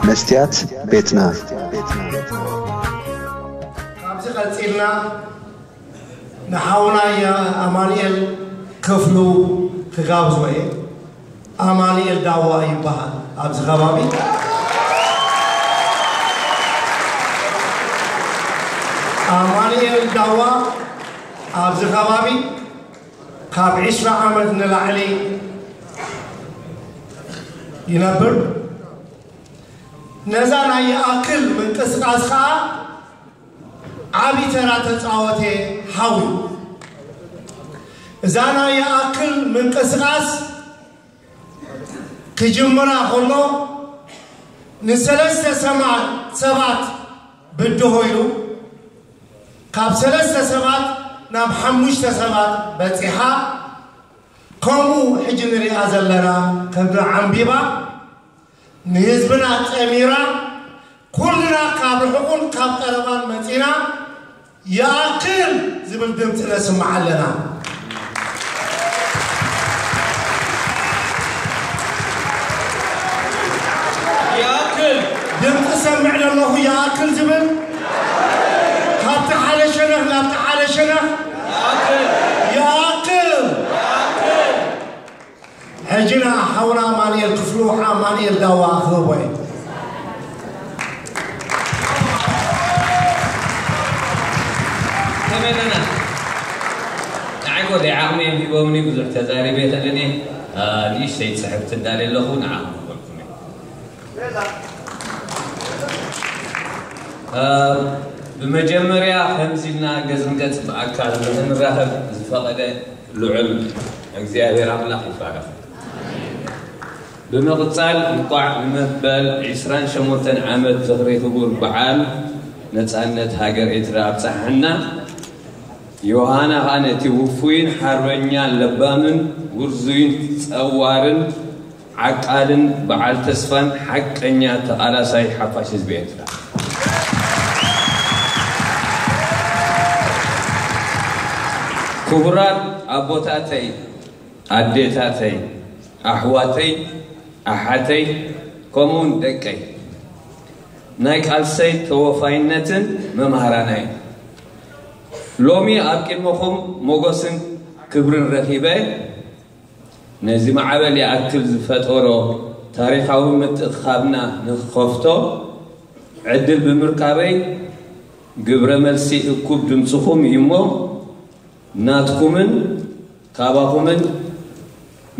መስትያት ቤትና። ካብዚ ቀጺልና ንሓውና ኣማኑኤል ክፍሉ ክጋብዞ እየ። ኣማኑኤል ዳዋ ይበሃል ኣብዚ ከባቢ። ኣማኑኤል ዳዋ ኣብዚ ከባቢ ካብ ዕስራ ዓመት ንላዕሊ ይነብር። ነዛ ናይ ይኣክል ምንቅስቃስ ከዓ ዓቢ ተራ ተጻወተ ሓዊ። እዛ ናይ ይኣክል ምንቅስቃስ ክጅምራ ከሎ ንሰለስተ ሰማ- ሰባት ብድሆ ኢሉ ካብ ሰለስተ ሰባት ናብ ሓሙሽተ ሰባት በጺሓ። ከምኡ ሕጂ ንሪኣ ዘለና ከምዚ ዓንቢባ ንህዝብና ጠሚራ ኩልና ካብ ርሑቕን ካብ ቀረባን መጺና ይኣክል ዝብል ድምፂ ነስምዓ ኣለና። ይኣክል ድምፂ ሰምዕ ዘለኹ ይኣክል ዝብል ካብቲ ሓደ ሸነኽ ናብቲ ሓደ ሸነኽ ይኣክል ሕጂ ንሓውና ኣማኑኤል ክፍሉ ኣማኑኤል ዳዋ ክህቦ እየ። ተመነና ንዓይ ጎደይ ዓቕሚ እዮም ሂቦምኒ ብዙሕ ተዛሪበ ተለኒ ንእሽተይ ፅሕፍቲ እንዳለ ኣለኹ ንዓኹም ክበልኩም እየ። ብመጀመርያ ከምዚ ኢልና ገጽ ንገጽ ብኣካል ንኽንራኸብ ዝፈቐደ ልዑል እግዚኣብሔር ኣምላኽ ይባረኽ። ብምቕጻል እንቋዕ ንመበል ዕስራን ሸሞንተን ዓመት ዝኽሪ ክቡር በዓል ነጻነት ሃገር ኤርትራ ኣብጽሓና። ዮሃና ኸኣ ነቲ ውፉይን ሓርበኛን ለባምን ውርዙይን ጸዋርን ዓቃልን በዓል ተስፋን ሓቀኛ ተቓላሳይ ሓፋሽ ህዝቢ ኤርትራ። ክቡራት ኣቦታተይ፣ ኣዴታተይ፣ ኣሕዋተይ፣ ኣሓተይ፣ ከምኡውን ደቀይ፣ ናይ ቃልሰይ ተወፋይነትን መምሃራናይ። ሎሚ ኣብ ቅድመኹም ሞጎስን ክብርን ረኺበ፣ ነዚ ማዕበል ይኣክል ዝፈጠሮ ታሪኻዊ ምትእኽኻብና ንኽኸፍቶ ዕድል ብምርካበይ፣ ግብረ መልሲ እኩብ ድምፅኹም እዩ እሞ፣ ናትኩምን ካባኹምን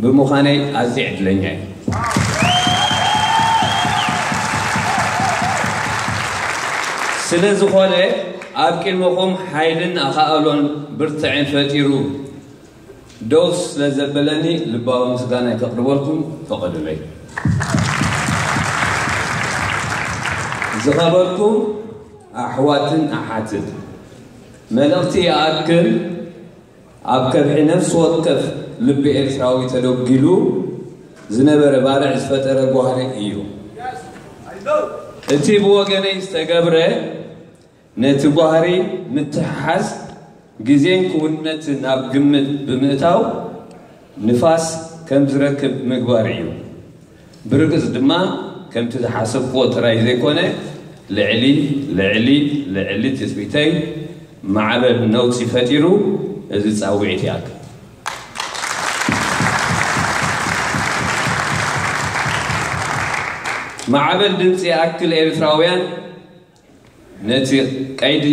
ብምዃነይ ኣዝየ ዕድለኛ እየ። ስለ ዝኾነ፣ ኣብ ቅድመኹም ሓይልን ኣኻእሎን ብርትዕን ፈጢሩ ደው ስለ ዘበለኒ ልባዊ ምስጋናይ ከቕርበልኩም ፈቐዱለይ። ዝኸበርኩም ኣሕዋትን ኣሓትን፣ መልእኽቲ ይኣክል ኣብ ከብሒ ነፍሲ ወከፍ ልቢ ኤርትራዊ ተደጒሉ ዝነበረ ባርዕ ዝፈጠረ ጓህሪ እዩ። እቲ ብወገነይ ዝተገብረ ነቲ ጓህሪ ምትሕሓዝ ግዜን ክውንነትን ኣብ ግምት ብምእታው ንፋስ ከም ዝረክብ ምግባር እዩ። ብርግጽ ድማ ከምቲ ዝሓሰብክዎ ጥራይ ዘይኮነ ልዕሊ ልዕሊ ልዕሊ ትጽቢተይ ማዕበል ነውጺ ፈጢሩ እዚ ጻውዒት ይኣክል። ማዕበል ድምጺ ይኣክል ኤርትራውያን ነቲ ቀይዲ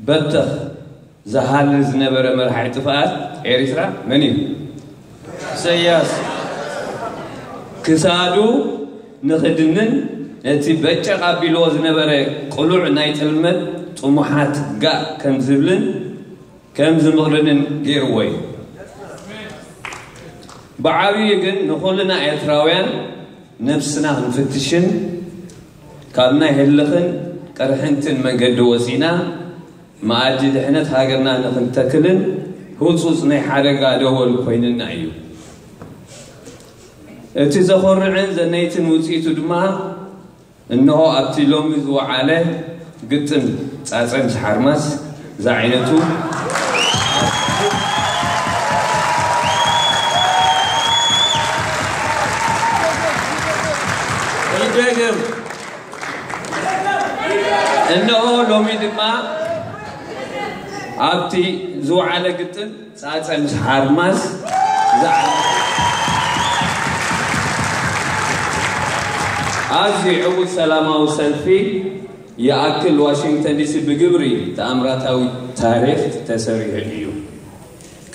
በተኽ ዝሃሊ ዝነበረ መርሓይ ጥፍኣት ኤሪትራ መን እዩ? ኢሰያስ። ክሳዱ ንኽድንን ነቲ በጨቕ ኣቢልዎ ዝነበረ ቅሉዕ ናይ ጥልመት ጥሙሓት ጋእ ከም ዝብልን ከም ዝምቕርንን ገይርዎ እዩ። ብዓብዩ ግን ንኹልና ኤርትራውያን ነብስና ክንፍትሽን ካብ ናይ ህልኽን ቅርሕንትን መንገዲ ወፂና መኣዲ ድሕነት ሃገርና ንኽንተክልን ህፁፅ ናይ ሓደጋ ደወል ኮይንና እዩ። እቲ ዘኾርዕን ዘነይትን ውፅኢቱ ድማ እንሆ ኣብቲ ሎሚ ዝወዓለ ግጥም ጻጸን ሓርማዝ ዝዓይነቱ። ይደገም እነሆ ሎሚ ድማ ኣብቲ ዝወዓለ ግጥም ጻጸ ምስ ሓርማዝ ዝዓለ ኣዝዩ ዕዉት ሰላማዊ ሰልፊ ይኣክል ዋሽንግተን ዲሲ ብግብሪ ተኣምራታዊ ታሪኽ ተሰሪሑ እዩ።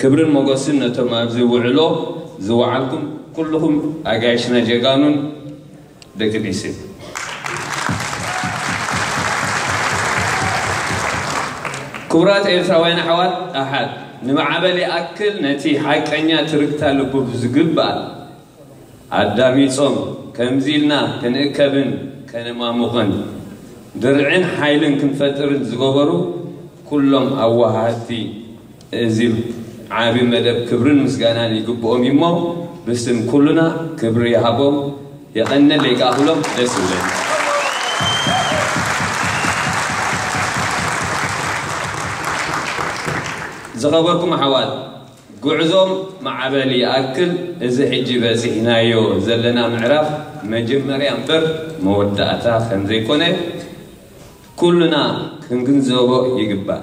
ክብርን ሞገስን ነቶም ኣብዚ ውዕሎ ዝወዓልኩም ኩልኹም ኣጋይሽና ጀጋኑን ደቂ ዲሲ። ክቡራት ኤርትራውያን ኣሕዋት ኣሓት፣ ንማዕበል ይኣክል ነቲ ሓቀኛ ትርክታ ልቡ ብዝግባእ ኣዳሚጾም ከምዚ ኢልና ክንእከብን ከነማሙቕን ድርዕን ሓይልን ክንፈጥርን ዝገበሩ ኩሎም ኣዋሃድቲ እዚ ዓቢ መደብ ክብርን ምስጋናን ይግብኦም እዩሞ ብስም ኩሉና ክብሪ ይሃቦም። የቐነለይ ከኣ ክብሎም ደስ ይብለኒ። ዝኸበርኩም ኣሕዋት፣ ጉዕዞም ማዕበል ይኣክል፣ እዚ ሕጂ በጺሕናዮ ዘለና ምዕራፍ መጀመርያ እምበር መወዳእታ ከም ዘይኮነ ኩልና ክንግንዘቦ ይግባእ።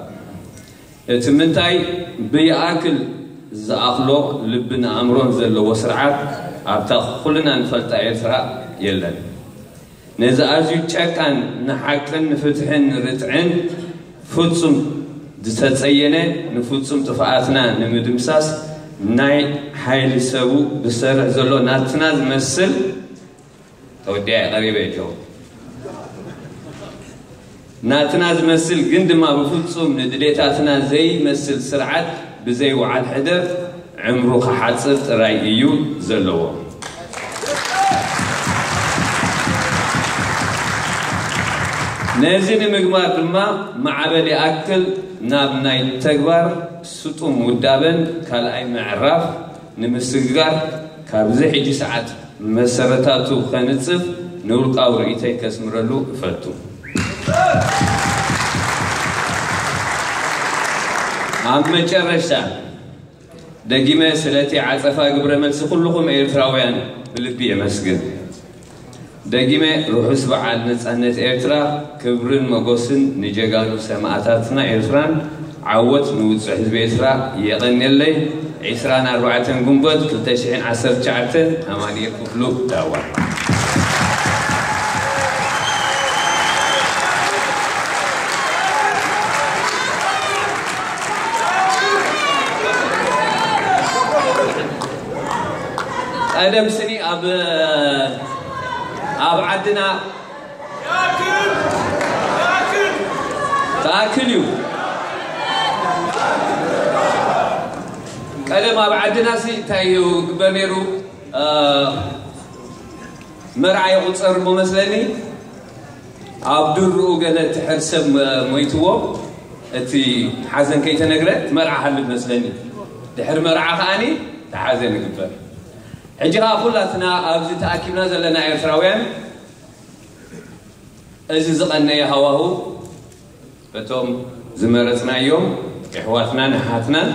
እቲ ምንታይ ብይኣክል ዝኣኽሎ ልብን ኣእምሮን ዘለዎ ስርዓት ኣብታ ኩልና ንፈልጣ ኤርትራ የለን። ነዚ ኣዝዩ ጨካን ንሓቅን ንፍትሕን ንርትዕን ፍጹም ዝተጸየነ ንፍጹም ጥፍኣትና ንምድምሳስ ናይ ሓይሊ ሰቡ ዝሰርሕ ዘሎ ናትና ዝመስል ተወዲኣ ቀሪበ እጆ ናትና ዝመስል ግን ድማ ብፍጹም ንድሌታትና ዘይመስል ስርዓት ብዘይ ወዓል ሕደር ዕምሩ ክሓጽር ጥራይ እዩ ዘለዎ። ነዚ ንምግባር ድማ ማዕበል ይኣክል ናብ ናይ ተግባር ስጡም ውዳበን ካልኣይ ምዕራፍ ንምስግጋር ካብዚ ሕጂ ሰዓት መሰረታቱ ከንጽፍ ንውልቃዊ ርእይተይ ከስምረሉ እፈቱ። ኣብ መጨረሻ ደጊመ ስለቲ ዓጸፋ ግብረ መልሲ ኩልኹም ኤርትራውያን ብልቢ የመስግን። ደጊመ ርሑስ በዓል ነጻነት ኤርትራ፣ ክብርን መጎስን ንጀጋኑ ሰማእታትና ኤርትራን ዓወት ንውጹዕ ህዝቢ ኤርትራ። የቐንየለይ። ዕስራን ኣርባዕተን ግንቦት ክልተ ሽሕን ዓሰርተ ትሽዓተን ኣማኑኤል ክፍሉ ዳዋ። ቀደም ስኒ ኣብ ኣብ ዓድና ተኣክል እዩ። ቀደም ኣብ ዓድና ሲ እንታይ እዩ ግበር ነይሩ? መርዓ ይቑጸር እሞ መስለኒ ኣብ ድርኡ ገለ ትሕር ሰብ ሞይትዎ እቲ ሓዘን ከይተነግረ መርዓ ሃልብ መስለኒ። ድሕሪ መርዓ ከኣኒ ተሓዘን ይግበር። ሕጂ ከዓ ኩላትና ኣብዚ ተኣኪብና ዘለና ኤርትራውያን እዚ ዝቐነየ ሃዋሁ በቶም ዝመረጽናዮም የሕዋትናን ኣሓትናን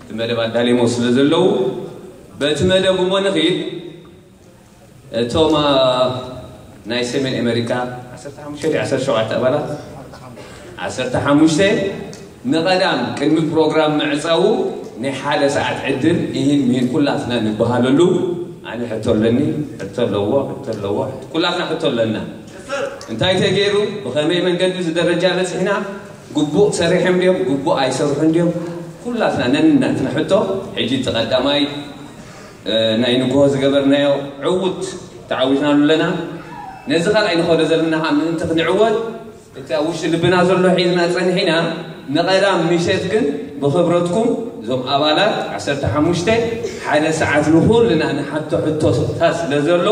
እቲ መደብ ኣዳሊሞ ስለ ዘለዉ በቲ መደብ እሞ ንኽይድ። እቶም ናይ ሰሜን ኣሜሪካ ዓሰርተ ሓሙሽተ ዓሰርተ ሸውዓተ ኣባላት ዓሰርተ ሓሙሽተ ንቐዳም ቅድሚ ፕሮግራም ምዕፃዉ ናይ ሓደ ሰዓት ዕድል ይህን ምሂን ኩላትና ንበሃለሉ። ኣነ ሕቶ ኣለኒ። ሕቶ ኣለዎ። ሕቶ ኣለዎ። ኩላትና ሕቶ ኣለና። እንታይ ተገይሩ? ብኸመይ መንገዲ እዚ ደረጃ በፂሕና? ግቡእ ሰሪሖም ድዮም? ግቡእ ኣይሰርሑን ድዮም? ኩላትና ነንናትና ሕቶ። ሕጂ እቲ ቀዳማይ ናይ ንግሆ ዝገበርናዮ ዕውት ተዓዊትናሉ ኣለና። ነዚ ካልኣይ ንኸዶ ዘለና ከዓ ምእንቲ ክንዕወት እቲ ኣብ ውሽጢ ልብና ዘሎ ሒዝና ፀኒሕና ንቐዳም ምሸት ግን ብኽብረትኩም እዞም ኣባላት ዓሰርተ ሓሙሽተ ሓደ ሰዓት ንኹልና ንሓቶ ሕቶታት ስለ ዘሎ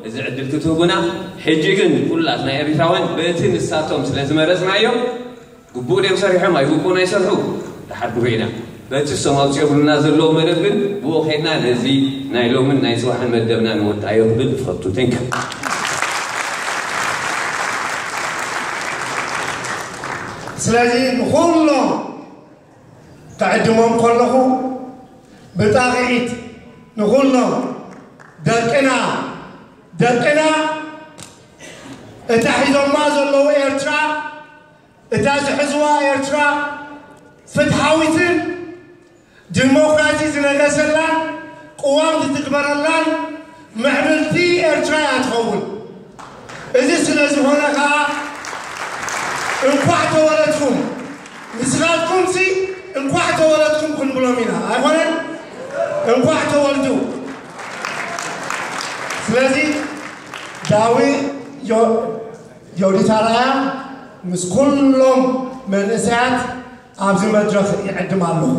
እዚ ዕድል ክትህቡና ሕጂ ግን ኩላትና ኤርትራውያን በቲ ንሳቶም ስለ ዝመረፅናዮም ግቡእ ድዮም ሰሪሖም ኣይግቡእን ኣይሰርሑ ድሓር ድሮ ኢና በቲ እሶም ኣውፂኦምልና ዘለዉ መደብ ግን ብኡ ከድና ነዚ ናይ ሎምን ናይ ፅባሕን መደብና ንወዳዮ ክብል እፈቱ። Thank you። ስለዚ ንኹሎም ተዕድሞም ከለኹ ብጣቕዒት ንኹሎም ደቅና ደቅና እታ ሒዞማ ዘለዉ ኤርትራ እታ ዝሕዝዋ ኤርትራ ፍትሓዊትን ዲሞክራሲ ዝነገሰላን ቅዋም ዝትግበረላን ምዕብልቲ ኤርትራ እያ ትኸውን። እዚ ስለ ዝኾነ ከዓ እንኳዕ ተወለድኩም። ንስኻትኩምሲ እንኳዕ ተወለድኩም ክንብሎም ኢና። ኣይኮነን? እንኳዕ ተወልዱ። ስለዚ ዳዊ ዮ-፣ ዮዲት ኣርኣያ ምስ ኩሎም መንእሰያት ኣብዚ መድረኽ ይዕድም ኣለኹ።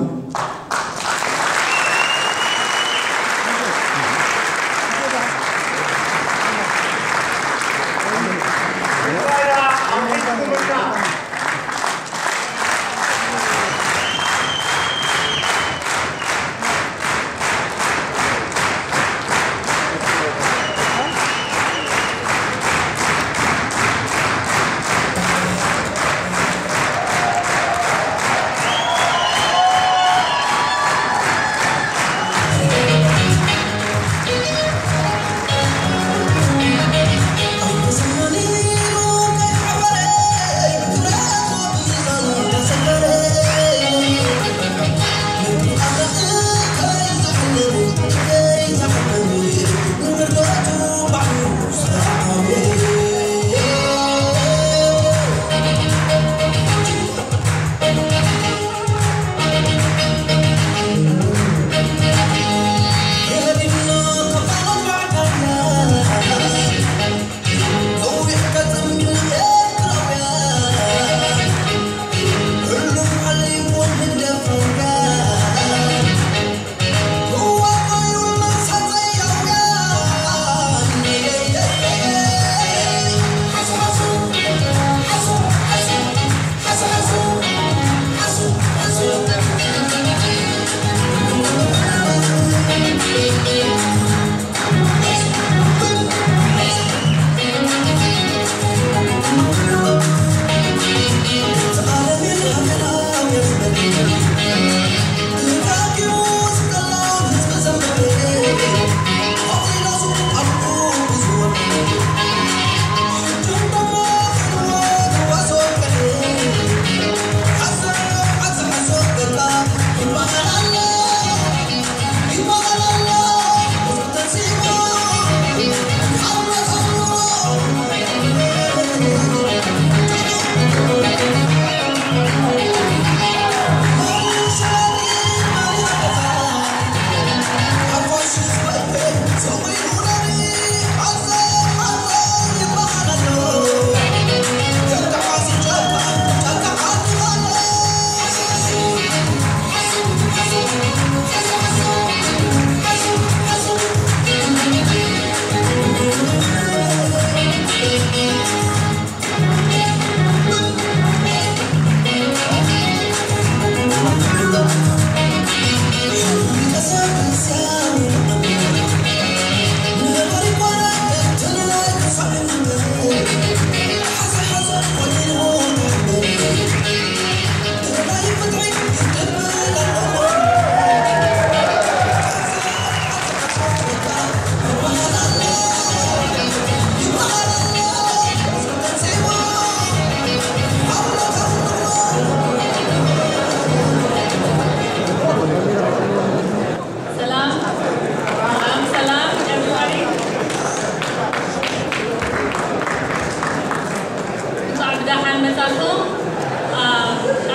ሰላም፣ ሰላም፣ ሰላም፣ everybody። እንኳዕ ብደሓን መጻኹም። አ፣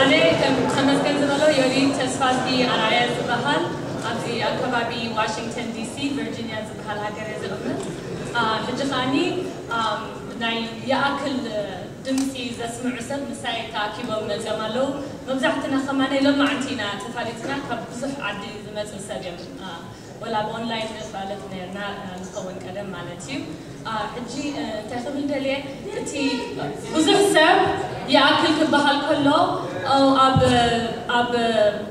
ኣነ ከም ተመስገን ዝበሎ ዮዲት ተስፋዝጊ ኣርኣያ ዝበሃል፣ ኣብዚ ኣብ ከባቢ ዋሽንግተን ዲሲ፣ ቨርጂኒያ ዝበሃል ሃገር እየ ዝቕመጥ። አ፣ ሕጂ ከኣኒ፣ አ፣ ናይ ይኣክል ድምፂ ዘስምዑ ሰብ ምሳይ ተኣኪቦም መፂኦም ኣለዉ። መብዛሕትና ከማነይ ሎማዓንቲ ኢና ተፋሊጥና፣ ካብ ብዙሕ ዓዲ ዝመፅእ ሰብ እዮም። አ፣ ወላ ኣብ ኦንላይን ንፋለጥ ነርና፣ አ፣ ንኸውን ቀደም ማለት እዩ። አ፣ ሕጂ፣ እ፣ እንታይ ክብል ደልየ፣ እቲ ብዙሕ ሰብ ይኣክል ክበሃል ከሎ፣ ኦ፣ ኣብ፣ ኣብ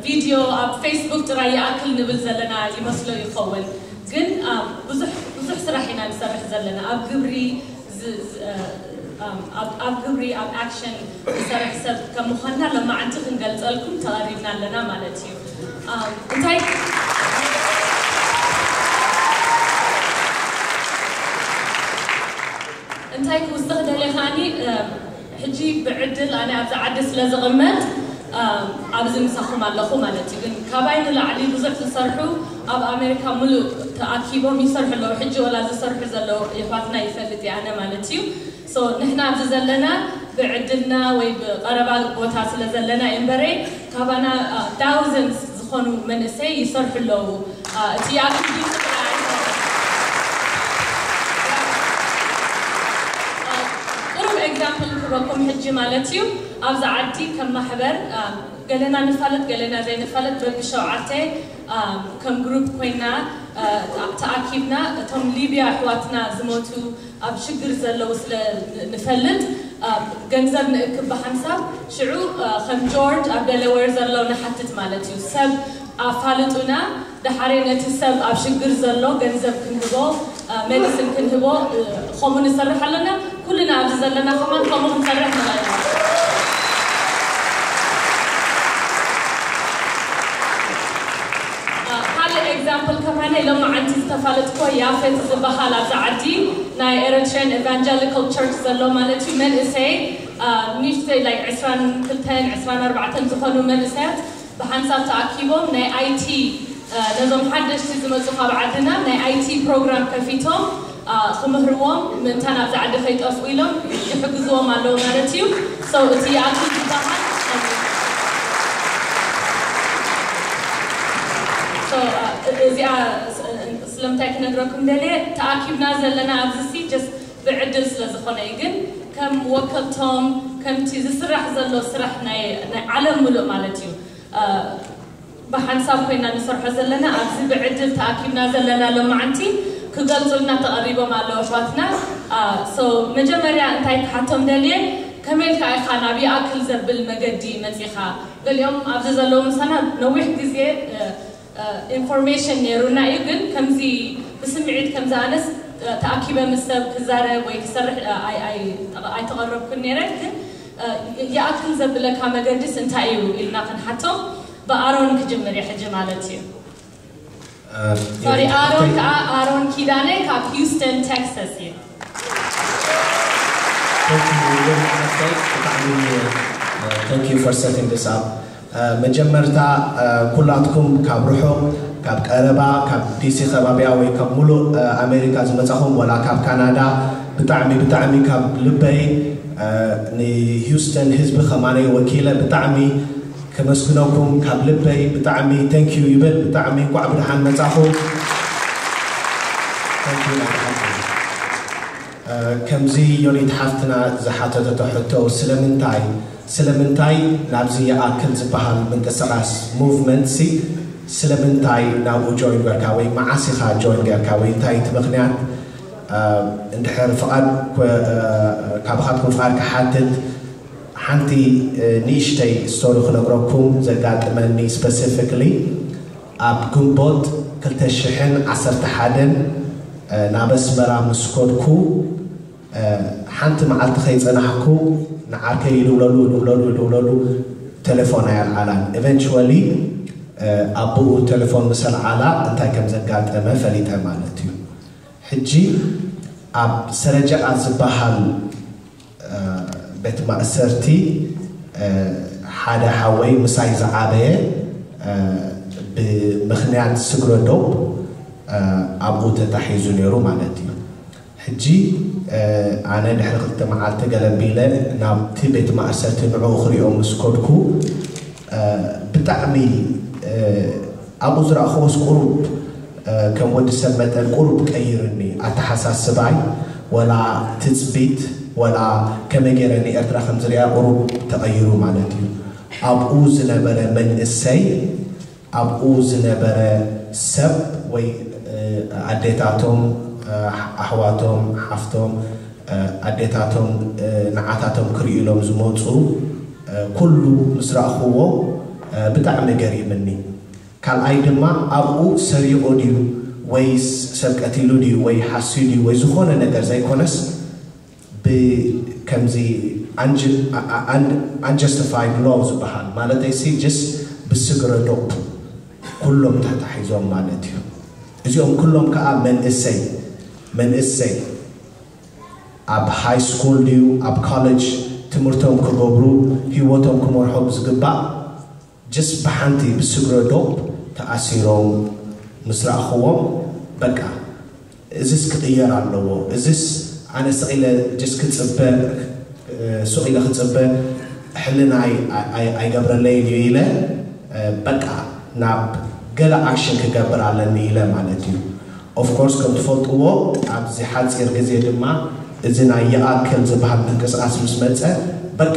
ቪድዮ፣ ኣብ ፌስቡክ ጥራይ ይኣክል ንብል ዘለና ይመስሎ ይኸውን። ግን፣ አ፣ ብዙሕ፣ ብዙሕ ስራሕ ኢና ንሰርሕ ዘለና። ኣብ ግብሪ ዝ-፣ ዝ-፣ እ፣ ኣም፣ ኣብ፣ ኣብ ግብሪ፣ ኣብ ኣክሽን ዝሰርሕ ሰብ ከም ምዃንና ሎማዓንቲ ክንገልጸልኩም ተቐሪብና ኣለና ማለት እዩ። ኣም፣ እንታይ፣ እንታይ ክውስኽ ደልየ ከኣኒ፣ እ፣ ሕጂ ብዕድል ኣነ ኣብዚ ዓዲ ስለ ዝቕመጥ ኣብዚ ምሳኹም ኣለኹ ማለት እዩ። ግን ካባይ ንላዕሊ ብዙሕ ዝሰርሑ ኣብ ኣሜሪካ ሙሉእ ተኣኪቦም ይሰርሑ ኣለዉ። ሕጂ ወላ ዝሰርሑ ዘለዉ የሕዋትና ይፈልጥ እየ ኣነ ማለት እዩ። So ንሕና ኣብዚ ዘለና ብዕድልና ወይ ብቐረባ ቦታ ስለ ዘለና እምበረይ ካባና thousands ዝኾኑ መንእሰይ ይሰርሑ ኣለዉ። እቲ ኣክቲቪቲ ጥራይ ኣይኮነን። ቁሩብ ኤግዛምፕል ክበኩም ሕጂ ማለት እዩ። ኣብዚ ዓዲ ከም ማሕበር ገለና ንፋለጥ ገለና ዘይንፋለጥ በብሸውዓተ ከም ግሩፕ ኮይና ተኣኪብና እቶም ሊብያ ኣሕዋትና ዝሞቱ ኣብ ሽግር ዘለዉ ስለ ንፈልጥ ገንዘብ ንእክብ ብሓንሳብ ሽዑ ከም ጆርጅ ኣብ ደለወር ዘሎ ንሓትት ማለት እዩ። ሰብ ኣፋልጡና፣ ደሓሬ ነቲ ሰብ ኣብ ሽግር ዘሎ ገንዘብ ክንህቦ፣ ሜዲሲን ክንህቦ፣ ከምኡ ንሰርሕ ኣለና። ኩልና ኣብዚ ዘለና ከማን ከምኡ ክንሰርሕ ንኽእል ኢና። ካልእ ኤግዛምፕል ከማነ ሎማዓንቲ ዝተፋለጥኮ ያፌት ዝበሃል ኣብዚ ዓዲ ናይ ኤሪትሪያን ኤቫንጀሊካል ቸርች ዘሎ ማለት እዩ መንእሰይ ንሽተይ like ዕስራን ክልተን ዕስራን ኣርባዕተን ዝኾኑ መንእሰያት ብሓንሳብ ተኣኪቦም ናይ ኣይቲ ነዞም ሓደሽቲ ዝመፁ ካብ ዓድና ናይ ኣይቲ ፕሮግራም ከፊቶም ክምህርዎም ምእንታን ኣብዚ ዓዲ ከይጠፍኡ ኢሎም ይሕግዝዎም ኣለዉ ማለት እዩ። So እቲ ይኣክል ዝበሃል እዚኣ ስለምንታይ ክነግረኩም ደልየ ተኣኪብና ዘለና ኣብዚ ሲ just ብዕድል ስለ ዝኾነ እዩ። ግን ከም ወከልቶም ከምቲ ዝስራሕ ዘሎ ስራሕ ናይ ዓለም ሙሉእ ማለት እዩ ብሓንሳብ ኮይና ንሰርሖ ዘለና ኣብዚ ብዕድል ተኣኪብና ዘለና ሎማዓንቲ ክገልፁልና ተቐሪቦም ኣለዉ ኣሕዋትና። So መጀመርያ እንታይ ክሓቶም ደልየ ከመይ ኢልካ ኢኻ ናብ ይኣክል ዘብል መገዲ መፂኻ? ገሊኦም ኣብዚ ዘለዉ ምሳና ነዊሕ ግዜ ኢንፎርሜሽን ነይሩና እዩ። ግን ከምዚ ብስምዒት ከምዚ ኣነስ ተኣኪበ ምስ ሰብ ክዛረብ ወይ ክሰርሕ ኣይተቐረብኩን ነይረ። ግን ይኣክል ዘብለካ መገድስ እንታይ እዩ ኢልና ክንሓቶም ብኣሮን ክጅምር እየ ሕጂ ማለት እዩ። ሶሪ ኣሮን ከዓ ኣሮን ኪዳነ ካብ ሂውስተን ቴክሳስ እዩ። Thank you for setting this up. መጀመርታ ኩላትኩም ካብ ርሑቕ ካብ ቀረባ ካብ ዲሲ ከባቢያ ወይ ካብ ሙሉእ ኣሜሪካ ዝመፃኹም ወላ ካብ ካናዳ ብጣዕሚ ብጣዕሚ ካብ ልበይ ንሂውስተን ህዝቢ ከማነይ ወኪለ ብጣዕሚ ከመስግነኩም ካብ ልበይ ብጣዕሚ thank you ይብል። ብጣዕሚ እንኳዕ ብድሓን መፃኹም። ከምዚ ዮኒት ሓፍትና ዝሓተተቶ ሕቶ ስለምንታይ ስለምንታይ ናብዚ ይኣክል ዝበሃል ምንቅስቃስ movement ሲ ስለምንታይ ናብኡ join ገርካ ወይ መዓስ ኢኻ join ገርካ ወይ እንታይ እቲ ምኽንያት እንድሕር ፍቓድ ካባኻትኩም ፍቓድ ክሓትት ሓንቲ ንእሽተይ story ክነግረኩም ዘጋጥመኒ specifically ኣብ ግንቦት ክልተ ሽሕን ዓሰርተ ሓደን ናብ ኣስመራ ምስ ከድኩ ሓንቲ መዓልቲ ከይጸናሕኩ ንዓርከይ ይድውለሉ ይድውለሉ ይድውለሉ ተሌፎን ኣየልዓላን eventually ኣቦኡ ተሌፎን ምስ ኣልዓላ እንታይ ከም ዘጋጠመ ፈሊጠ ማለት እዩ። ሕጂ ኣብ ሰረጀኣ ዝበሃል ቤት ማእሰርቲ ሓደ ሓወይ ምሳይ ዝዓበየ ብምኽንያት ስግረ ዶብ ኣብኡ ተታሒዙ ነይሩ ማለት እዩ። ሕጂ ኣነ ድሕሪ ክልተ መዓልቲ ገለቢለ ናብቲ ቤት ማእሰርቲ ንዕኡ ክሪኦ ምስ ከድኩ ብጣዕሚ ኣብኡ ዝረእኽዎስ ቁሩብ ከም ወዲ ሰብ መጠን ቁሩብ ቀይርኒ ኣተሓሳስባይ ወላ ትፅቢት ወላ ከመይ ገይረ ንኤርትራ ከም ዝሪኣ ቁሩብ ተቐይሩ ማለት እዩ። ኣብኡ ዝነበረ መንእሰይ ኣብኡ ዝነበረ ሰብ ወይ ኣዴታቶም ኣሕዋቶም ሓፍቶም ኣዴታቶም ንዓታቶም ክርእዩ ኢሎም ዝመፁ ኩሉ ምስ ረእኽዎ ብጣዕሚ ገሪምኒ። ካልኣይ ድማ ኣብኡ ሰሪቑ ድዩ ወይስ ሰብ ቀቲሉ ድዩ ወይ ሓስዩ ድዩ ወይ ዝኾነ ነገር ዘይኮነስ ብከምዚ unjustified love ዝበሃል ማለተይ ሲ just ብስግረ ዶብ ኩሎም ተታሒዞም ማለት እዩ። እዚኦም ኩሎም ከዓ መንእሰይ መንእሰይ ኣብ high school ድዩ ኣብ college ትምህርቶም ክገብሩ፣ ህይወቶም ክመርሑ ብዝግባእ፣ just ብሓንቲ ብስግረ ዶብ ተኣሲሮም ምስ ረኣኽዎም፣ በቃ እዚስ ክቕየር ኣለዎ፣ እዚስ ኣነ ስቕ ኢለ just ክጽበ፣ ስቕ ኢለ ክጽበ ሕልናይ ኣይ-፣ ኣይገብረለይን እዩ ኢለ፣ በቃ ናብ ገለ ኣክሽን ክገብር ኣለኒ ኢለ ማለት እዩ። Of course ከም ትፈልጥዎ ኣብዚ ሓጺር ግዜ ድማ እዚ ናይ ይኣክል ዝበሃል ምንቅስቃስ ምስ መጸ፣ በቃ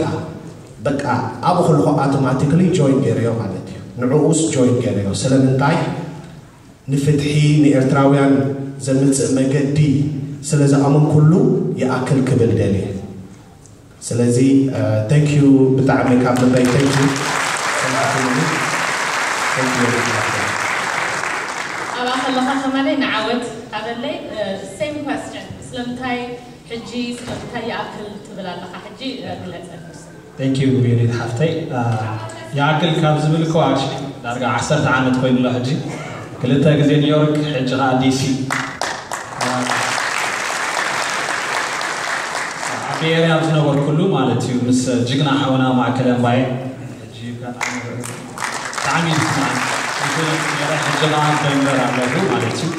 በቃ ኣብኡ ከለኹ ኣውቶማቲክሊ ጆይን ገይረዮ ማለት እዩ። ንዕኡስ ጆይን ገይረዮ። ስለምንታይ? ንፍትሒ ንኤርትራውያን ዘምጽእ መገዲ ስለ ዝኣመንኩሉ ይኣክል ክብል ደልየ። ስለዚ thank you፣ ብጣዕሚ ካብ ልበይ thank you። Thank you። ኣብኣ ከለኻ ከማለይ ንዓወት ኣበለይ same question፣ ስለምንታይ ሕጂ ስለምንታይ ይኣክል ትብል ኣለኻ? ሕጂ ግለጸ። Thank you ዩኒት ሓፍተይ። ይኣክል ካብ ዝብል እኮ actually ዳርጋ ዓሰርተ ዓመት ኮይኑ ኣሎ ሕጂ። ክልተ ግዜ ኒውዮርክ፣ ሕጂ ኸዓ ዲሲ። ኣብ ቤይ ኤርያ ኣብ ዝነበርኩሉ ማለት እዩ፣ ምስ ጅግና ሓውና ማእከለ እምባየ፣ ሕጂ ብጣዕሚ እዩ ዝስማዕ። ይፈልጥ ነይረ፣ ሕጂ ኸዓ ደንቨር ኣለኹ ማለት እዩ።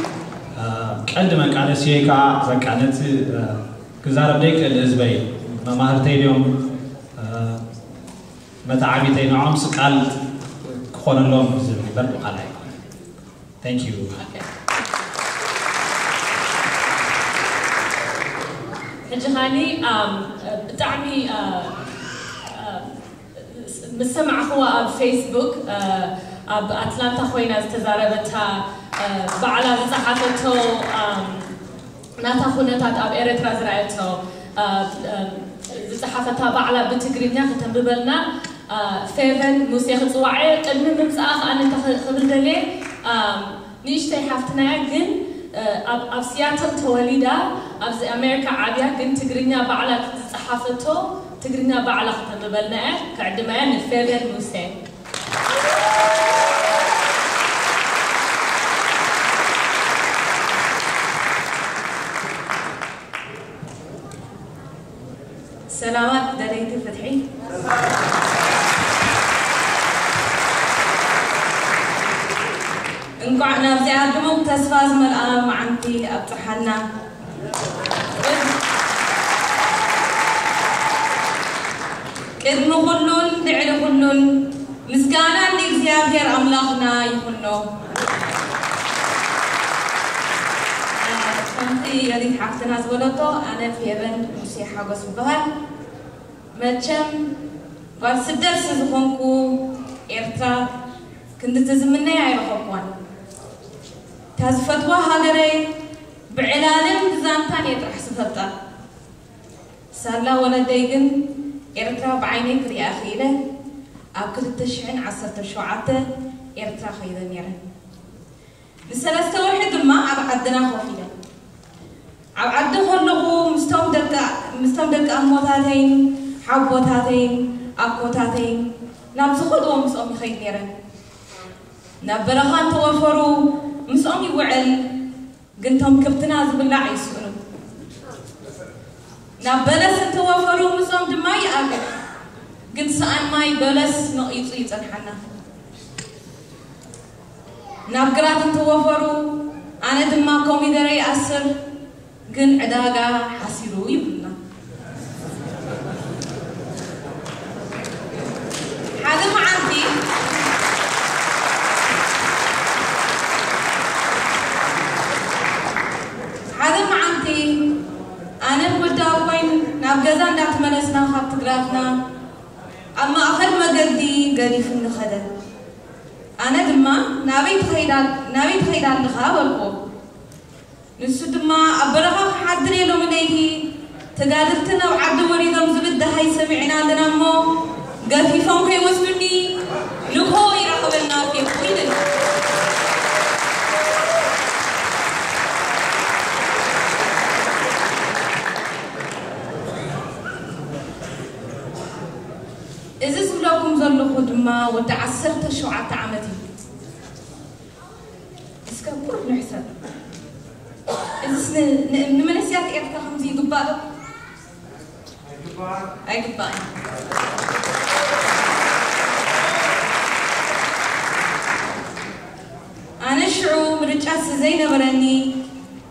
ቀንዲ መቃለስየይ ከዓ በቃ ነቲ ክዛረብ ዘይክእል ህዝበይ፣ መማህርተይ ድዮም መተዓቢተይ፣ ንዖምስ ቃል ክኾነሎም ዝብል እምበር ብኻልእ ኣይኮነን። Thank you። ሕጂ ኻኒ ብጣዕሚ ምስ ሰማዕኽዋ ኣብ ፌስቡክ ኣብ ኣትላንታ ኮይና ዝተዛረበታ ባዕላ ዝፀሓፈቶ ናታ ኩነታት ኣብ ኤረትራ ዝረኣየቶ ዝፀሓፈታ ባዕላ ብትግርኛ ከተንብበልና ፌቨን ሙሴ ክፅዋዕ እየ። ቅድሚ ምምፃኣ ከዓ እንታይ ክብል ደልየ፣ ንእሽተይ ሓፍትና እያ ግን ኣብ ሲያትል ተወሊዳ ኣብዚ ኣሜሪካ ዓብያ ግን ትግርኛ ባዕላ ዝፀሓፈቶ ትግርኛ ባዕላ ክተንብበልና እያ። ክዕድማ እያ ንፌቨን ሙሴ። ሰላማት ደለይቲ ፍትሒ፣ እንቋዕ ናብዚኣ ድሙቕ ተስፋ ዝመልኣ መዓንቲ ኣብጽሓና። ቅድሚ ኩሉን ልዕሊ ኩሉን ምስጋና ንእግዚኣብሔር ኣምላኽና ይኹኖ። ከምቲ ዮዲት ሓፍትና ዝበለቶ ኣነ ፌቨን ሙሴ ሓጎስ ይበሃል። መቸም ጓል ስደት ስዝኾንኩ ኤርትራ ክንድቲ ዝምነያ ኣይረኸብኳን። እታ ዝፈትዋ ሃገረይ ብዕላልን ብዛንታን እየ ጥራሕ ዝፈልጣ። ሳላ ወለደይ ግን ኤርትራ ብዓይነይ ክሪኣ ክኢለ ኣብ ክልተ ሽሕን ዓሰርተ ሸውዓተ ኤርትራ ከይደ ነይረ። ንሰለስተ ወርሒ ድማ ኣብ ዓድና ኮፍ ኢለ። ኣብ ዓዲ ከለኹ ምስቶም ደቂ ምስቶም ደቂ ኣሞታተይን ሓቦታተይን ኣኮታተይን ናብ ዝኸድዎ ምስኦም ይኸይድ ነይረ። ናብ በረኻ እንተወፈሩ ምስኦም ይውዕል። ግን ቶም ከብትና ዝብላዕ ይስእኑ። ናብ በለስ እንተወፈሩ ምስኦም ድማ ይኣግድ። ግን ሰኣን ማይ በለስ ነቒጹ ይጸንሓና። ናብ ግራት እንተወፈሩ ኣነ ድማ ኮሚደረ ይኣስር። ግን ዕዳጋ ሓሲሩ ይብሉና። ሓደ መዓልቲ ሓደ መዓልቲ ኣነን ወዲ ኣቦይን ናብ ገዛ እንዳተመለስና ካብ ትግራትና ኣብ ማእኸል መገዲ ገዲፉኒ ኸደ። ኣነ ድማ ናበይ ትኸይዳ ናበይ ትኸይዳ ኣለኻ በልኩዎ። ንሱ ድማ ኣብ በረኻ ክሓድር እየ ሎሚ ለይቲ ተጋደልቲ ናብ ዓዲ ወሪዶም ዝብል ደሃይ ሰሚዕና ኣለና እሞ ገፊፎም ከይወስዱኒ ንግሆ ይራኸበና ኬኩ ኢለኒ። እዚ ዝብለኩም ዘለኹ ድማ ወዲ ዓሰርተ ሸውዓተ ዓመት እዩ። እስከ ቁሩብ ንሕሰብ። እዚስ ን- ን- ንመንእሰያት ኤርትራ ከምዚ ይግባእ ዶ? ኣይግባእን። ኣነ ሽዑ ምርጫ ዘይነበረኒ፣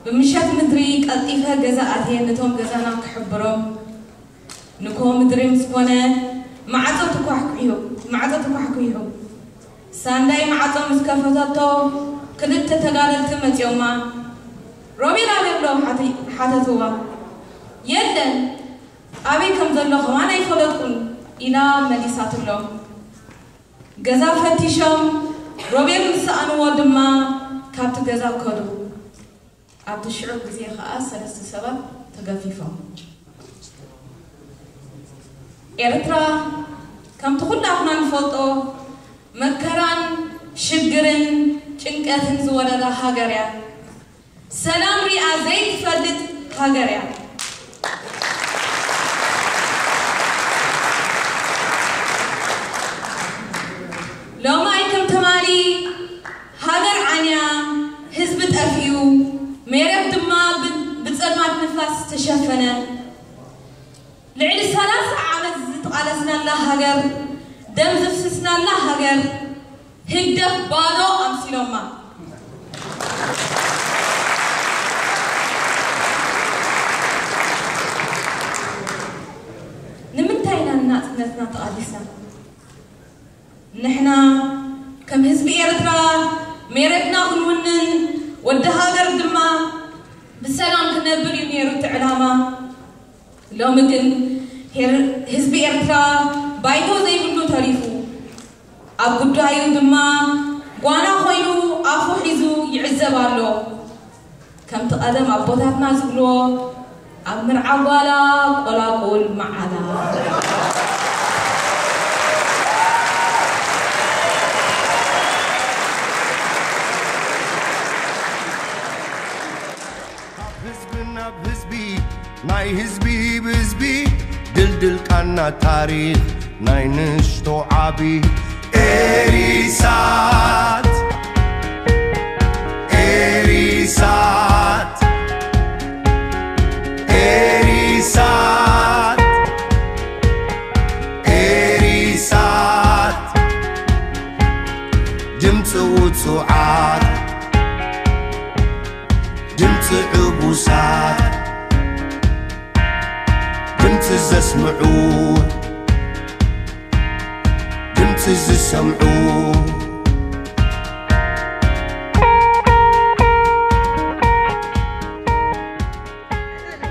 ብምሸት ምድሪ ቀልጢፈ ገዛ ኣትየ ነቶም ገዛና ክሕብሮም። ንኮ ምድሪ ምስ ኮነ ማዕጾ ተኳሕኲሑ፣ ማዕጾ ተኳሕኲሑ። ሳንዳይ ማዕጾ ምስ ከፈተቶ ክልተ ተጋደልቲ መጺኦማ። "ሮቤል ኣበይ ኣሎ?" ሓቲ-፣ ሓተትዋ። "የለን፣ ኣበይ ከም ዘሎ ከማን ኣይፈለጥኩን" ኢላ መሊሳትሎም። ገዛ ፈቲሾም ሮቤል ምስ ሰኣንዎ ድማ ካብቲ ገዛ ከዱ። ኣብቲ ሽዑ ግዜ ከኣ ሰለስተ ሰባት ተገፊፎም። ኤርትራ ከምቲ ኩላትና ንፈልጦ መከራን ሽግርን ጭንቀትን ዝወረዳ ሃገር እያ። ሰላም ሪኣ ዘይትፈልጥ ሃገር እያ። ሎማይ ከም ትማሊ ሃገር ዓንያ፣ ህዝቢ ጠፊኡ፣ ሜረት ድማ ብ-፣ ብጸልማት ንፋስ ተሸፈነ። ልዕሊ ሰላሳ ዓመት ዝተቓለስናላ ሃገር፣ ደም ዘፍሰስናላ ሃገር፣ ህግደፍ ባዶ ኣምሲሎማ። ንምንታይ ኢና ንናጽነትና ተቓሊስና? ንሕና ከም ህዝቢ ኤርትራ ሜረትና ክንውንን፣ ወዲ ሃገር ድማ ብሰላም ክነብር እዩ ነይሩ እቲ ዕላማ። ሎሚ ግን ሄር-፣ ህዝቢ ኤርትራ ባይቶ ዘይብሉ ተሪፉ፣ ኣብ ጉዳዩ ድማ ጓና ኮይኑ ኣፉ ሒዙ ይዕዘብ ኣሎ። ከምቲ ቀደም ኣቦታትና ዝብልዎ፣ "ኣብ መርዓ ጓላ ቆላቁል መዓላ." ካብ ህዝቢ ናብ ህዝቢ፣ ናይ ህዝቢ ብህዝቢ፣ ድልድል ቃና ታሪኽ ናይ ንእሽቶ ዓቢ። ኤሪሳት፣ ኤሪሳት፣ ኤሪሳት፣ ኤሪሳት፣ ድምፂ ውፁዓት፣ ድምፂ ዕቡሳት፣ ድምፂ ዘስምዑ፣ ድምፂ ዝሰምዑ።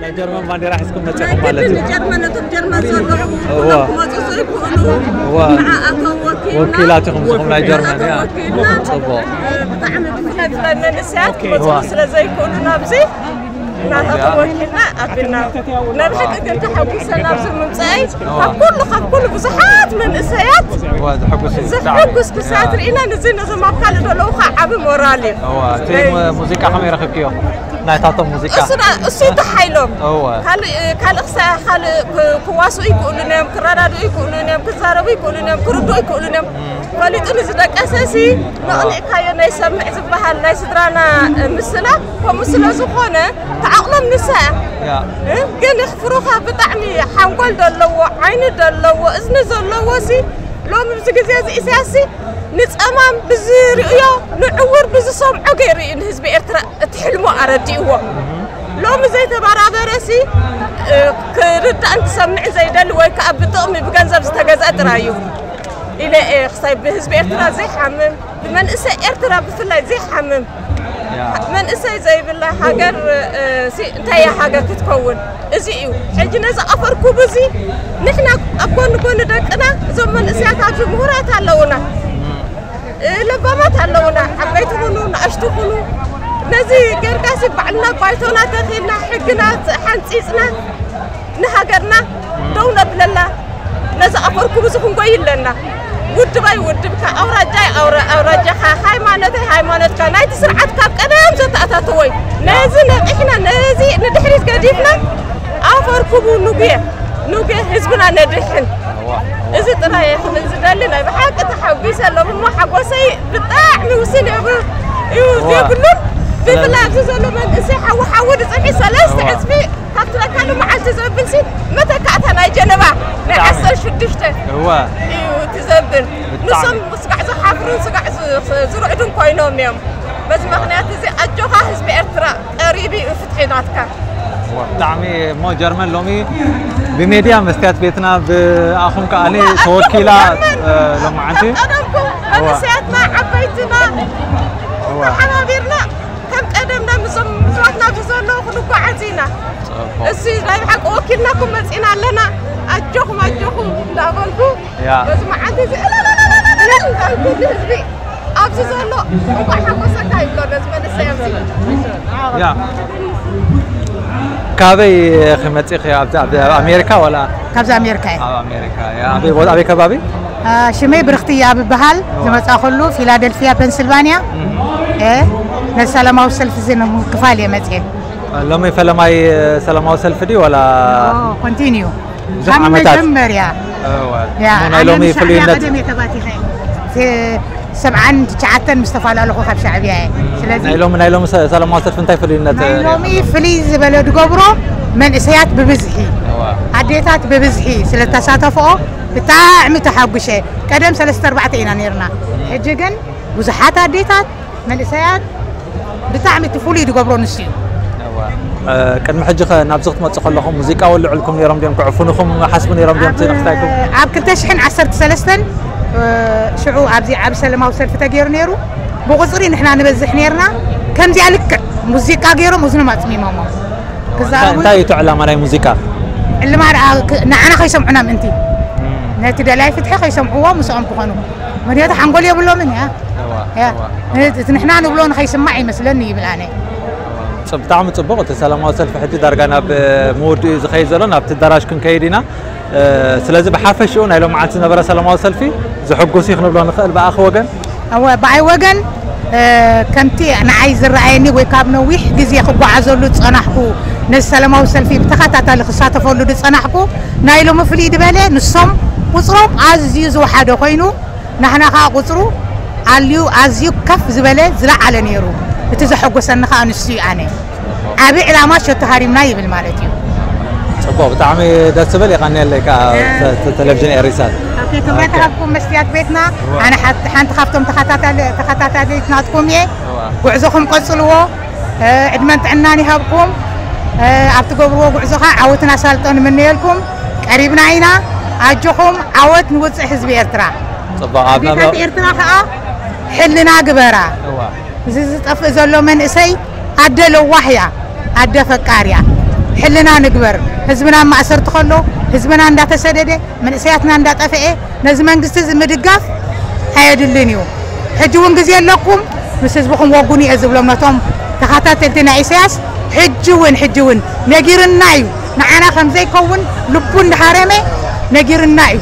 ናይ ጀርመን ባንዴራ ሒዝኩም መጺኹም ማለት እዩ። ጀርመን፣ እቶም ጀርመን ዘለዉ እዋ። ክመጹ ዘይክእሉ እዋ። ንዓኣቶም ወኪልና፣ ወኪላት ኢኹም ንስኹም ናይ ጀርመን፣ ንዓኣቶም ያ። ወኪልና፣ ጽቡቕ። ብጣዕሚ ብዙሕ ህዝቢ መንእሰያት ክመጹ እዋ። ስለ ዘይክእሉ ናብዚ፣ ንዓኣቶም ያ። ወኪልና ኣቢልና። ናይ ብሓቂ ግን ተሓጒሰ ናብዚ ምምጻኣይ፣ እዋ። ካብ ኩሉ፣ ካብ ኩሉ ብዙሓት መንእሰያት እዋ፣ ዘሐጉስ እዩ። ዘሐጉስ ክሳት ያ። ርኢና፣ ንዚ ነዞም ኣብ ካልእ ዘለዉ ከዓ ዓቢ ሞራል እዩ። እዋ፣ እቲ ናይ ሙ-፣ ሙዚቃ ከመይ ረኺብክዮ? ናይታቶም ሙዚቃ። እሱ ዳ-፣ እሱ እዩ ተሓይሎም። እወ። ካልእ፣ ካልእ ክሳ-፣ ካልእ ክ-፣ ክዋስኡ ይክእሉን እዮም፣ ክረዳድኡ ይክእሉን እዮም፣ ክዛረቡ ይክእሉን እዮም፣ ክርድኡ ይክእሉን እዮም። እም። ፈሊጡ ንዝደቀሰ ሲ፣ እወ። ነቕኒቕካዮ ናይ ሰምዕ ዝበሃል ናይ ስድራና፣ እ፣ ምስላ፣ ከምኡ ስለ ዝኾነ፣ ተዓቕሎም ንሳ እያ። ያ። እ፣ ግን የኽፍሩኻ ብጣዕሚ ሓንጎል ዘለዎ፣ ዓይኒ ዘለዎ፣ እዝኒ ዘለዎ ሲ፣ ሎሚ ኣብዚ ግዜ እዚ ኢሳያስ ሲ፣ ንጸማም ብዝርእዮ፣ ንዕዉር ብዝሰምዖ ገይሩ እዩ ንህዝቢ ኤርትራ እቲ ሕልሙ ኣረዲእዎ። ሎሚ ዘይተበራበረሲ፣ እ፣ ክርዳእን ክሰምዕን ዘይደሊ ወይ ከኣ ብጥቕሚ ብገንዘብ ዝተገዝአ ጥራይ እዩ ኢለ እየ ክሳይ ብህዝቢ ኤርትራ ዘይሓምም፣ ብመንእሰይ ኤርትራ ብፍላይ ዘይሓምም፣ ያ። መንእሰይ ዘይብላ ሃገር፣ እ፣ ሲ-፣ እንታይ እያ ሃገር ክትከውን? እዚ እዩ። ሕጂ ነዚ ኣፈር ኩቡ እዚ ንሕና ኣብ ጎኒ ጎኒ ደቅና እዞም መንእሰያት ኣብዚ ምሁራት ኣለዉና። እ፣ ለባማት ኣለዉና፣ ዓበይቲ ኹኑ፣ ንኣሽቱ ኹኑ። ነዚ ጌርካሲ ባዕልና ባይቶና ተኺልና፣ ሕግና ሓንጺጽና፣ ንሃገርና ደው ነብለላ፣ ነዚ ኣፈርኩም እዚ ክንጎይ ኣለና። ውድባይ ውድብካ፣ ኣውራጃይ ኣውራ-፣ ኣውራጃኻ፣ ሃይማኖተይ ሃይማኖትካ፣ ናይቲ ስርዓት ካብ ቀደም ዘተኣታተወ እዩ። ነዚ ነቒሕና፣ ነዚ ንድሕሪት ገዲፍና፣ ኣፈርኩቡ ንጉየ፣ ንጉየ ህዝብና ነድሕን። እዚ ጥራይ እየ ክብል ዝደሊ። ናይ ብሓቂ ተሓጒሰ ኣለኹ እሞ ሓጎሰይ ብጣዕሚ ውስን የብ-፣ እዩ እዋ። የብሉን። ስለዚ ብፍላይ ኣብዚ ዘሎ መንእሰይ ሓዊ ሓዊ ዝፅንሒ ሰለስተ እዋ። ዕፅፊ ካብ ትረካሉ መዓዝ እቲ ዘብል ሲ መተካእታ ናይ ጀነባ ናይ ዓሰርተ ሽዱሽተ እዋ እዩ እቲ ዘብል። ብጣዕሚ። ንሶም ስጋዕ ዝሓፍሩን ስጋዕ ዝ- ዝርዕዱን ኮይኖም እዮም። በዚ ምኽንያት እዚ ኣጆኻ ህዝቢ ኤርትራ ቀሪቡ እዩ ፍትሒ ናትካ። ብጣዕሚ እሞ ጀርመን ሎሚ ብሜድያ መስትያት ቤትና ብኣኹም ከኣ ተወኪላ ሎማዓንቲ ቀደምኩም መንእሰያትና ዓበይትና ተሓባቢርና ከም ቀደምና ምስዞም ምስዋትና ኣብዚ ዘለዉ ክንጓዓዝ ኢና። እሲ ናይ ብሓቂ ወኪልናኩም መፂና ኣለና። ኣጆኹም ኣጆኹም እንዳበልኩ በዚ መዓልቲ እዚ እልል እንዳልኩ ንህዝቢ ኣብዚ ዘሎ እንኳዕ ሓጎሰካ ይብሎ ነዚ መንእሰይ ኣብዚ። ያ ካበይ ክመፂኺ ኣብዚ ኣብ ኣሜሪካ ዋላ? ካብዚ ኣሜሪካ እየ። ኣብ ኣሜሪካ ያ። ኣበይ ቦታ ኣበይ ከባቢ? ሽመይ ብርኽቲ እያ ብበሃል ዝመፃእኩሉ ፊላደልፊያ ፔንስልቫኒያ። ነዚ ሰላማዊ ሰልፊ እዚ ንምክፋል እየ መፅየ። ሎሚ ፈለማይ ሰላማዊ ሰልፊ ድዩ ዋላ? ኮንቲኒዩ ካብ መጀመርያ ናይ ሎሚ ፍሉይነት ሰብዓን ትሽዓተን ምስ ተፈላለኹ ካብ ሻዕብያ እየ። ስለዚ ናይ ሎሚ ናይ ሎሚ ሰላማዊ ሰልፊ እንታይ ፍሉይነት ናይ ሎሚ ፍልይ ዝበለ ድገብሮ መንእሰያት ብብዝሒ ኣዴታት ብብዝሒ ስለተሳተፍኦ ብጣዕሚ ተሓጉሸ። ቀደም ሰለስተ ኣርባዕተ ኢና ነርና፣ ሕጂ ግን ብዙሓት ኣዴታት መንእሰያት ብጣዕሚ እቲ ፍሉይ ዝገብሮ ንሱ እዩ። ቅድሚ ሕጂ ኸ ናብዚ ክትመፁ ከለኹም ሙዚቃ ወልዕልኩም ነይሮም ድዮም? ክዕፍኑኹም ሓስቡ ነይሮም ድዮም? ትንክታይኩም ኣብ ክልተ ሽሕን ዓሰርተ ሰለስተን ሽዑ ኣብዚ ዓብ ሰለማዊ ሰልፊ ተገይሩ ነይሩ። ብቁፅሪ ንሕና ንበዝሕ ነይርና። ከምዚኣ ልክዕ ሙዚቃ ገይሮም እዝኖም ኣፅሚሞሞ። ክዛረቡ እንታይ እዩ እቲ ዕላማ ናይ ሙዚቃ? ዕልማ ደኣ ክ- ንዓና ከይሰምዑና ምእንቲ ነቲ ደላይ ፍትሒ ከይሰምዕዎ ምስኦም ክኾኑ ምክንያቱ ሓንጎል የብሎምን እያ። እያ። እቲ ንሕና ንብሎ ንኸይስማዕ ይመስለኒ ይብል ኣነ። ብጣዕሚ ፅቡቕ። እቲ ሰላማዊ ሰልፊ ሕጂ ዳርጋ ናብ ምውድኡ እዩ ዝኸይድ ዘሎ። ናብቲ ኣዳራሽ ክንከይድ ኢና። ስለዚ ብሓፈሽኡ ናይ ሎማዓንቲ ዝነበረ ሰላማዊ ሰልፊ ዘሐጉስ እዩ ክንብሎ ንኽእል ብኣኺ ወገን? እወ ብኣይ ወገን ከምቲ ንዓይ ዝረኣየኒ ወይ ካብ ነዊሕ ግዜ ክጓዓዘሉ ዝፀናሕኩ ነዚ ሰላማዊ ሰልፊ ብተኸታታሊ ክሳተፈሉ ዝፀናሕኩ ናይ ሎሚ ፍልይ ዝበለ ንሶም ቁፅሮም ኣዝዩ ዝወሓደ ኮይኑ ናሕና ከዓ ቁፅሩ ኣልዩ ኣዝዩ ከፍ ዝበለ ዝለዓለ ነይሩ። እቲ ዘሐጎሰኒ ከዓ ንሱ እዩ ኣነ ዓብ ዕላማ ሸቶ ሃሪምና ይብል ማለት እዩ። ፅቡቅ ብጣዕሚ ደስ ዝብል የቀንየለይ ከዓ ተ- ተ- ቴሌቪዥን ኤሪሳት ክብረት ሃብኩም መስትያት ቤትና ኣነ ሓንቲ ሓንቲ ካብቶም ተኸታታሊ- ተኸታታሊት ናትኩም እየ። ጉዕዞኹም ቀፅልዎ። ዕድመን ጥዕናን ይሃብኩም። ኣብ ትገብርዎ ጉዕዞ ከዓ ዓወትን ኣሳልጦን ንምነየልኩም። ቀሪብና ኢና። ኣጆኹም ዓወት ንውፅእ ህዝቢ ኤርትራ። ፅቡቅ ኣብ ኣዴታት ኤርትራ ከዓ ሕልና ግበራ። እዚ ዝጠፍእ ዘሎ መንእሰይ ኣደ ለዋህ እያ፣ ኣደ ፈቃር እያ። ሕልና ንግበር። ህዝብና ኣብ ማእሰርቲ ከሎ፣ ህዝብና እንዳተሰደደ፣ መንእሰያትና እንዳጠፍኤ፣ ነዚ መንግስቲ እዚ ምድጋፍ ኣየድልን እዩ። ሕጂ እውን ግዜ ኣለኩም፣ ምስ ህዝብኹም ወጉኑ እየ ዝብሎም ነቶም ተኸታተልቲ ናይ ኢሳያስ። ሕጂ እውን ሕጂ እውን ነጊርና እዩ። ንዓና ከም ዘይከውን ልቡ እንዳሃረመ ነጊርና እዩ።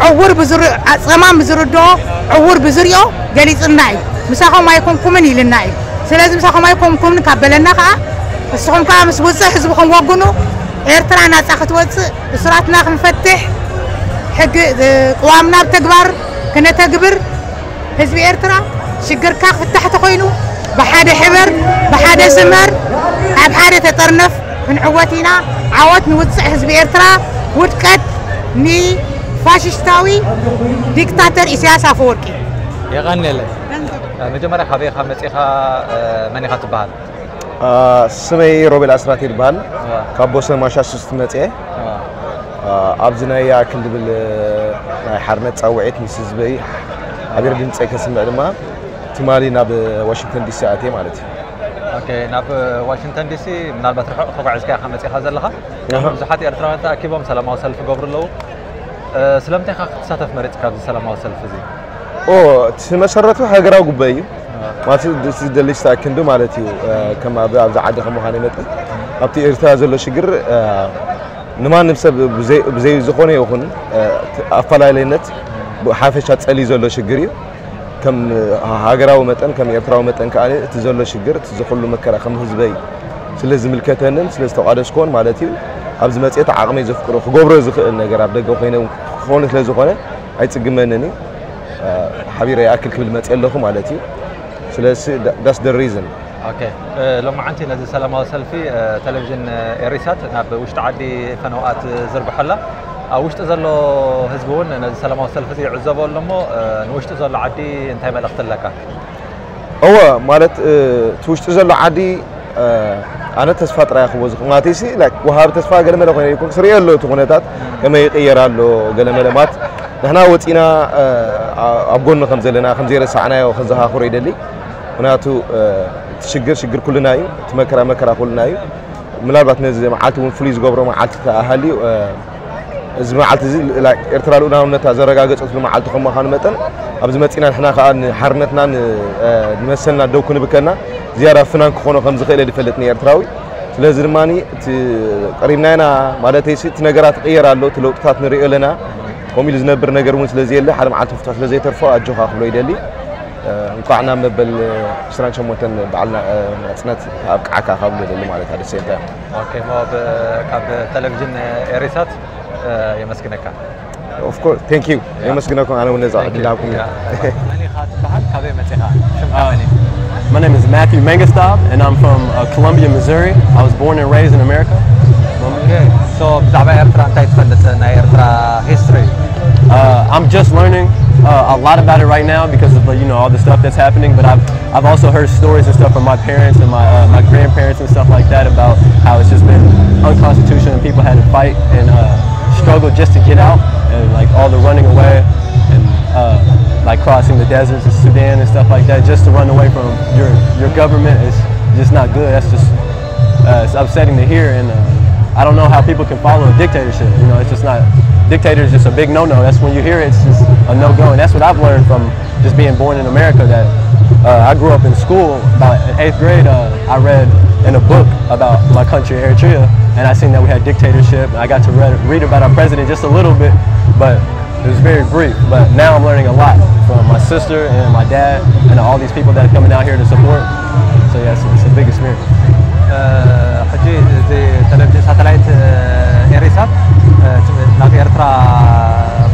ዕውር ብዝር- ጸማም ብዝርድኦ ዕውር ብዝሪኦ ገሊጽልና እዩ። ምሳኹም ኣይኮንኩምን ኢልና እዩ። ስለዚ ምሳኹም ኣይኮንኩምን ካብ በለና ከኣ ንስኹም ከኣ ምስ ውጽእ ህዝብኹም ወግኑ። ኤርትራ ናጻ ክትወጽእ እሱራትና ክንፈትሕ ሕጊ ቅዋምና ብተግባር ክነተግብር ህዝቢ ኤርትራ ሽግርካ ክፍታሕ ተኾይኑ ብሓደ ሕበር ብሓደ ስመር ኣብ ሓደ ተጠርነፍ ክንዕወት ኢና። ዓወት ንውፅዕ ህዝቢ ኤርትራ፣ ውድቀት ንፋሽስታዊ ዲክታተር ኢሳያስ ኣፈወርቂ። የቐንየለይ። መጀመርያ ካበይ ኢኻ መፂኻ? መን ኢኻ ትበሃል? ስመይ ሮቤል ኣስራት ይበሃል። ካብ ቦስተን ማሳቹስት መፅየ። ኣብዚ ናይ ይኣክል ዝብል ናይ ሓርነት ፃውዒት ምስ ህዝበይ ሓቢረ ድምፀይ ከስምዕ ድማ ትማሊ ናብ ዋሽንግተን ዲሲ ኣትየ ማለት እዩ። ኦኬ፣ ናብ ዋሽንግተን ዲሲ ምናልባት ርሑቕ ተጓዒዝካ ኢኻ መፂኻ ዘለኻ። ብዙሓት ኤርትራውያን ተኣኪቦም ሰላማዊ ሰልፊ ይገብሩ ኣለዉ። ስለምንታይ ኢኻ ክትሳተፍ መሪፅካ ኣብዚ ሰላማዊ ሰልፊ እዚ? ኦ፣ እቲ መሰረቱ ሃገራዊ ጉባኤ እዩ። ማለት ዝደሊ ዝኣክንዱ ማለት እዩ። ከም ኣብ ኣብዚ ዓዲ ከም ምዃነይ መጠን ኣብቲ ኤርትራ ዘሎ ሽግር ንማንም ሰብ ብዘይ ዝኾነ ይኹን ኣፈላለይነት ብሓፈሻ ጸልዩ ዘሎ ሽግር እዩ። ከም ሃገራዊ መጠን ከም ኤርትራዊ መጠን ከኣ እቲ ዘሎ ሽግር እቲ ዝኹሉ መከራ ከም ህዝበይ ስለ ዝምልከተንን ስለ ዝተቋደስኩዎን ማለት እዩ። ኣብዚ መጽኤት ዓቕመይ ዘፍቅዶ ክገብሮ ዝኽእል ነገር ኣብ ደገ ኮይነ ክኸውን ስለ ዝኾነ ኣይጽግመንን እዩ። ሓቢረ ይኣክል ክብል መጽየ ኣለኹ ማለት እዩ። ስለዚ that's the reason። ኦኬ፣ እ፣ ሎማዓንቲ ነዚ ሰላማዊ ሰልፊ፣ እ፣ ቴሌቪዥን፣ እ፣ ኤሪሳት ናብ ውሽጢ ዓዲ ፈነውኣት ዝርግሖ ኣላ። ኣብ ውሽጢ ዘሎ ህዝቢ እውን ነዚ ሰላማዊ ሰልፊ እዚ ይዕዘቦ ኣሎ እሞ፣ እ፣ ንውሽጢ ዘሎ ዓዲ እንታይ መልእኽቲ ኣለካ? እወ፣ ማለት፣ እ፣ እቲ ውሽጢ ዘሎ ዓዲ፣ እ፣ ኣነ ተስፋ ጥራይ ክቦ ዝኽማተይሲ ላይክ ወሃቢ ተስፋ ገለመለ ኮይነ ይኮን ክስርዮ ኣሎ እቲ ኩነታት ከመይ ይቕየር ኣሎ። ገለመለ ማለት ንሕና ወፂና፣ እ፣ ኣብ ጎኑ ከም ዘለና ከም ዘይረሳዕናዮ ከዘኻኽሮ ይደሊ። ምክንያቱ፣ እ፣ እቲ ሽግር ሽግር ኩልና እዩ። እቲ መከራ መከራ ኩልና እዩ። ምናልባት ነዚ መዓልቲ እውን ፍሉይ ዝገብሮ መዓልቲ ተኣሃልዩ፣ እ፣ እዚ መዓልቲ እዚ ላ- ኤርትራ ልኡላውነታ ዘረጋገፀትሉ መዓልቲ ከም ምዃኑ መጠን ኣብዚ መፂና ንሕና ከዓ ንሓርነትና ን- እ፣ ንመሰልና ደው ክንብከና ዝያዳ ፍናን ክኾኖ ከም ዝኽእል እየ ዝፈልጥ ንኤርትራዊ። ስለዚ ድማ እቲ ቀሪብና ኢና ማለተይሲ እቲ ነገራት ይቕየር ኣሎ፣ እቲ ለውጥታት ንሪኦ ኣለና። ከምኡ ኢሉ ዝነብር ነገር እውን ስለዘየለ ሓደ መዓልቲ ፍትሑ ስለዘይተርፎ ኣጆኻ ክብሎ ይደሊ። እ፣ እንኳዕ ናብ መበል ዕስራን ሸሞንተን በዓልና፣ እ፣ ናጽነት ኣብቅዓካ ካብ ንደሊ ማለት ኣደሰንታ። ኦኬ፣ እሞ ብ- ካብ ቴሌቪዥን ኤሪሳት፣ እ፣ የመስግነካ። Of course, thank you። የመስግነኩም ኣነ እውን ነዛ ዕድል ሃብኩም። መን ኢኻ ትበሃል? ካበይ መጺኻ? ሽምካ መን እዩ? My name is Matthew Mangastab, and I'm from uh, Columbia, Missouri. I was born and raised in America. ኦኬ፣ ሶ ብዛዕባ ኤርትራ እንታይ ትፈልጥ? ናይ ኤርትራ ሂስትሪ? Uh, I'm just learning uh, a lot about it right now because of the, you know, all the stuff that's happening. But I've I've also heard stories and stuff from my parents and my uh, my grandparents and stuff like that about how it's just been unconstitutional and people had to fight and uh, struggle just to get out and like all the running away and uh, like crossing the deserts of Sudan and stuff like that just to run away from your your government is just not good. That's just uh, it's upsetting to hear, and uh, I don't know how people can follow a dictatorship. You know, it's just not dictator is just a big no-no. That's when you hear it, it's just a no-go, and that's what I've learned from just being born in America. That uh, I grew up in school about in eighth grade. Uh, I read in a book about my country, Eritrea, and I seen that we had dictatorship. I got to read, read about our president just a little bit, but it was very brief, but now I'm learning a lot from my sister and my dad and all these people that are coming out here to support. So yeah, it's, it's a big experience. ሕጂ እዚ ቴሌቪዥን ሳተላይት ኤሪሳት ናብ ኤርትራ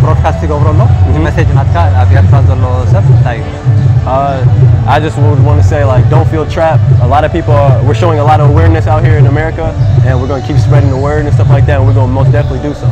ብሮድካስት ይገብሮ ኣሎ። እቲ መሴጅ ናትካ ኣብ ኤርትራ ዘሎ ሰብ እንታይ እዩ? Uh, I just would want to say, like, don't feel trapped. A lot of people are, we're showing a lot of awareness out here in America, and we're going to keep spreading the word and stuff like that, and we're going to most definitely do so.